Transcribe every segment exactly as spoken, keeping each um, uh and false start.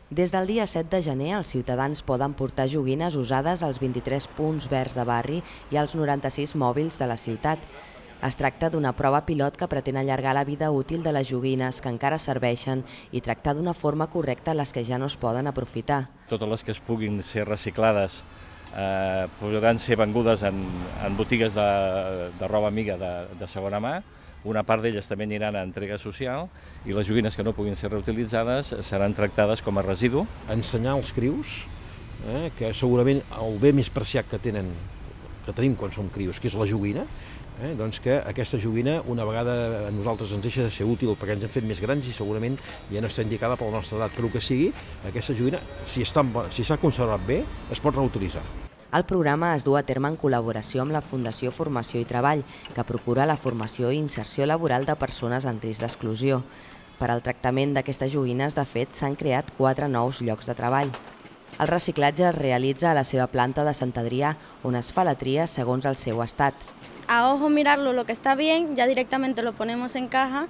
Des del dia set de gener, els ciutadans poden portar joguines usades als vint-i-tres punts verds de barri i als noranta-sis mòbils de la ciutat. Es tracta d'una prova pilot que pretén allargar la vida útil de les joguines que encara serveixen i tractar d'una forma correcta les que ja no es poden aprofitar. Totes les que es puguin ser reciclades eh, podran ser vengudes en, en botigues de, de roba amiga de, de segona mà. Una part d'elles també aniran a entrega social i les joguines que no puguin ser reutilitzades seran tractades com a residu. Ensenyar als crius eh, que segurament el bé més preciat que tenen, que tenim quan som crius, que és la joguina, eh, doncs que aquesta joguina una vegada a nosaltres ens deixa de ser útil perquè ens hem fet més grans i segurament ja no està indicada per la nostra edat, però que sigui, aquesta joguina, si està, si s'ha conservat bé, es pot reutilitzar. El programa es du a terme en col·laboració amb la Fundació Formació i Treball, que procura la formació i inserció laboral de persones en risc d'exclusió. Per al tractament d'aquestes joguines, de fet, s'han creat quatre nous llocs de treball. El reciclatge es realitza a la seva planta de Sant Adrià, on es fa la tria segons el seu estat. A ojo mirarlo, lo que está bien, ya directamente lo ponemos en caja,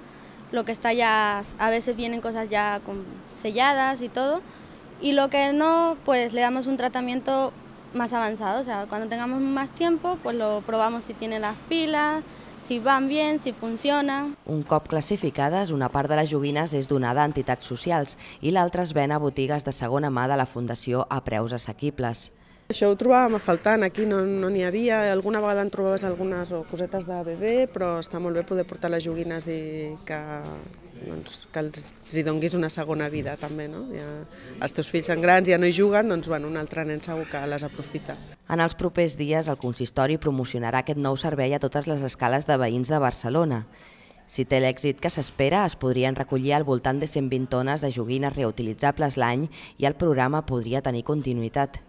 lo que está ya, a veces vienen cosas ya selladas y todo, y lo que no, pues le damos un tratamiento más avanzado, o sea, cuando tengamos más tiempo, pues lo probamos si tiene las pilas, si van bien, si funciona. Un cop classificades, una part de les joguines és donada a entitats socials i l'altra es ven a botigues de segona mà de la Fundació a preus assequibles. Això ho trobàvem a faltant, aquí no n'hi havia, alguna vegada en trobaves algunes cosetes de bebè, però està molt bé poder portar les joguines i que, doncs, que els hi donguis una segona vida també, no? Ja, els teus fills són grans, ja no hi juguen, doncs bueno, un altre nen segur que les aprofita. En els propers dies el consistori promocionarà aquest nou servei a totes les escales de veïns de Barcelona. Si té l'èxit que s'espera, es podrien recollir al voltant de cent vint tones de joguines reutilitzables l'any i el programa podria tenir continuïtat.